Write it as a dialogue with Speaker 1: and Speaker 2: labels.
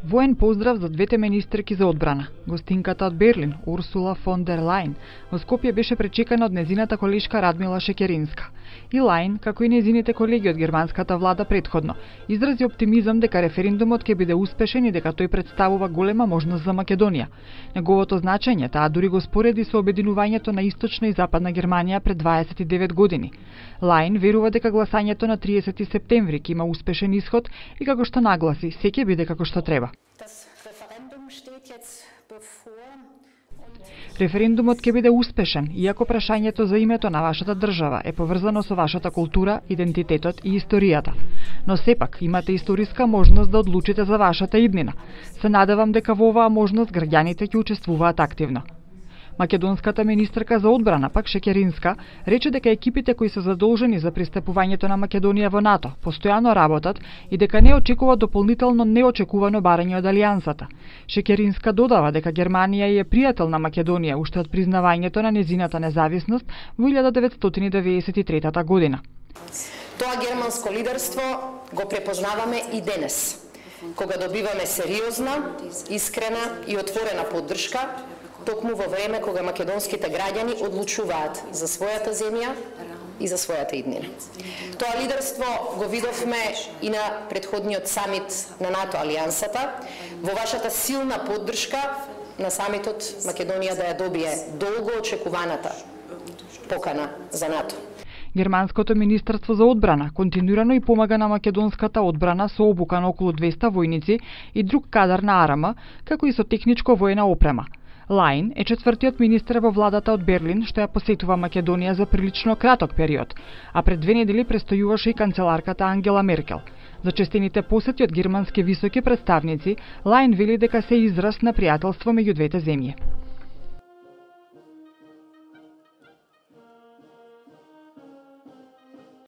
Speaker 1: Воен поздрав за двете министерки за одбрана. Гостинката од Берлин, Урсула фон дер Лајн, во Скопје беше пречекана од незината колешка Радмила Шекеринска. И Лајн, како и незините колеги од германската влада претходно, изрази оптимизам дека референдумот ќе биде успешен и дека тој представува голема можност за Македонија. Неговото значење таа дури го спореди со обединувањето на Источна и Западна Германија пред 29 години. Лајн верува дека гласањето на 30 септември ќе има успешен исход и како што нагласи, се ќе биде како што треба. Референдумот ќе биде успешен, иако прашањето за името на вашата држава е поврзано со вашата култура, идентитетот и историјата. Но сепак имате историска можност да одлучите за вашата иднина. Се надевам дека во оваа можност граѓаните ќе учествуваат активно. Македонската министерка за одбрана, пак Шекеринска, рече дека екипите кои се задолжени за пристапувањето на Македонија во НАТО постојано работат и дека не очекува дополнително неочекувано барање од алијансата. Шекеринска додава дека Германија е пријател на Македонија уште од признавањето на незината независност во 1993 година.
Speaker 2: Тоа германско лидерство го препознаваме и денес, кога добиваме сериозна, искрена и отворена поддршка, токму во време кога македонските граѓани одлучуваат за својата земја и за својата иднина. Тоа лидерство го видовме и на претходниот самит на НАТО алијансата, во вашата силна поддршка на самитот Македонија да ја добие долго очекуваната покана за НАТО.
Speaker 1: Германското министерство за одбрана континуирано и помага на македонската одбрана со обука на околу 200 војници и друг кадар на арама, како и со техничко воена опрема. Лајн е четвртиот министер во владата од Берлин што ја посетува Македонија за прилично краток период, а пред 2 недели престојуваше и канцеларката Ангела Меркел. За честените посети од германски високи представници, Лајн вели дека се израз на пријателство меѓу двете земји.